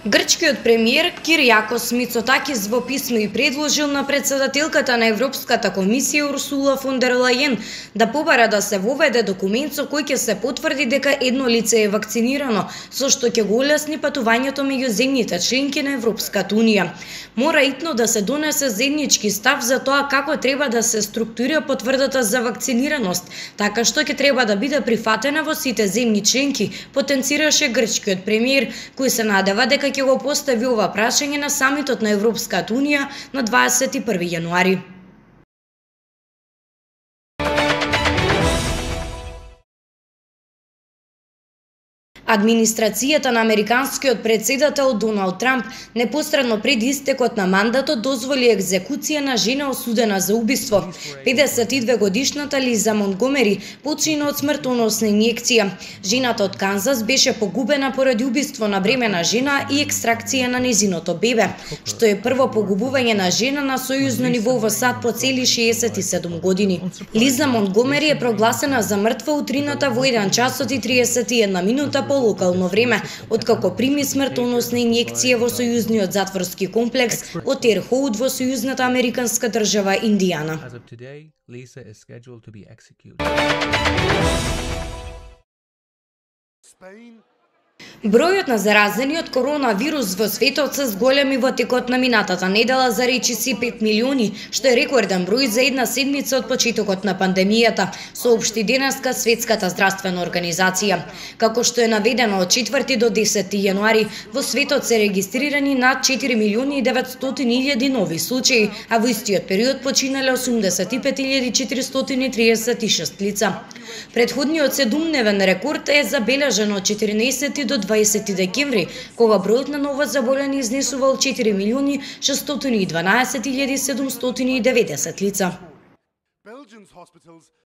Грчкиот премиер Кириакос Мицотакис во писмо и предложил на председателката на Европската комисија Урсула фон дер Лајен да побара да се воведе документ со кој ќе се потврди дека едно лице е вакцинирано, со што ќе го улесни патувањето меѓу земјите членки на Европската унија. Мора итно да се донесе заеднички став за тоа како треба да се структурира потврдата за вакцинираност, така што ќе треба да биде прифатена во сите земји членки, потенцираше грчкиот премиер, кој се надева дека ќе го постави ова прашање на самитот на Европската унија на 21 јануари. Администрацијата на американскиот председател Доналд Трамп непосредно пред истекот на мандатот дозволи екзекуција на жена осудена за убиство. 52-годишната Лиза Монтгомери почина од смртоносна инјекција. Жената од Канзас беше погубена поради убиство на бремена жена и екстракција на незиното бебе, што е прво погубување на жена на сојузно ниво во САД по цели 67 години. Лиза Монтгомери е прогласена за мртва утрината во 1 часот и 31 минута по локално време, откако прими смртоносна инјекција во сојузниот затворски комплекс од Тер Хоут во сојузната американска држава Индијана. Бројот на заразени од коронавирус во светот се зголеми во текот на минатата недела за речиси 5 милиони, што е рекорден број за една седмица од почетокот на пандемијата, соопшти денеска Светската здравствена организација. Како што е наведено од 4 до 10 јануари, во светот се регистрирани над 4 милиони и 900 илјади нови случаи, а во истиот период починале 85.436 лица. Предходниот 7-дневен рекорд е забележан од 14 до 20 декември, кога бројот на новозаболени изнесувал 4.612.790 лица.